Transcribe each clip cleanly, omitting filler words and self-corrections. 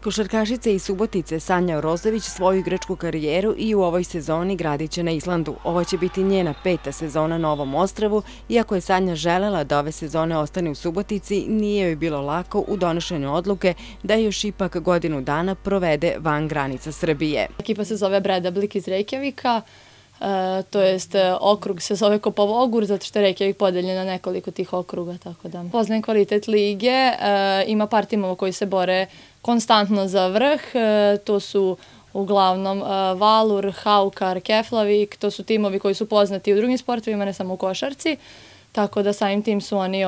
Košarkašica iz Subotice Sanja Orozović svoju igračku karijeru i u ovoj sezoni gradit će na Islandu. Ovo će biti njena 5. sezona na ovom ostrvu. Iako je Sanja želela da ove sezone ostane u Subotici, nije joj bilo lako u donošenju odluke da još ipak godinu dana provede van granica Srbije. Ekipa se zove Bredablik iz Reykjavika, to jest okrug se zove Kopavogur, zato što je Reykjavik podeljen na nekoliko tih okruga, tako da poznajem kvalitet lige, ima par timova koji se bore konstantno za vrh, to su uglavnom Valur, Haukar, Keflavik, to su timovi koji su poznati u drugim sportovima, ne samo u košarci, tako da samim tim su oni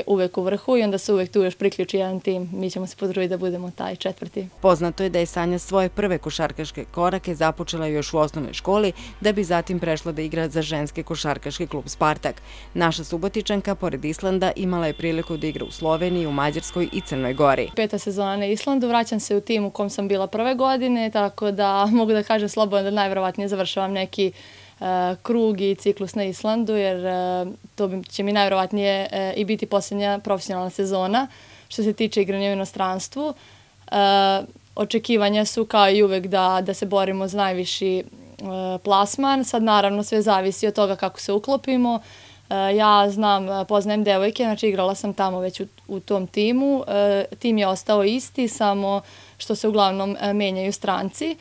uvek u vrhu i onda se uvek tu još priključi jedan tim. Mi ćemo se potruditi da budemo taj četvrti. Poznato je da je Sanja svoje prve košarkaške korake započela još u osnovnoj školi, da bi zatim prešla da igra za ženski košarkaški klub Spartak. Naša Subotičanka, pored Islanda, imala je priliku da igra u Sloveniji, u Mađarskoj i Crnoj Gori. 5. sezona na Islandu, vraćam se u tim u kom sam bila prve godine, tako da mogu da kažem slobodno da najverovatnije završavam neki krug i ciklus na Islandu, jer to će mi najverovatnije i biti posljednja profesionalna sezona što se tiče igranja u inostranstvu. Očekivanja su kao i uvek da se borimo za najviši plasman. Sad naravno sve zavisi od toga kako se uklopimo. Ja poznajem devojke, znači igrala sam tamo već u tom timu. Tim je ostao isti, samo što se uglavnom menjaju stranci.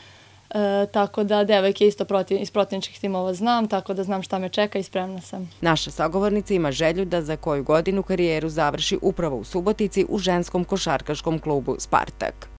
Tako da devojke isto iz protivničkih timova znam, tako da znam šta me čeka i spremna sam. Naša sagovornica ima želju da za koju godinu karijeru završi upravo u Subotici u ženskom košarkaškom klubu Spartak.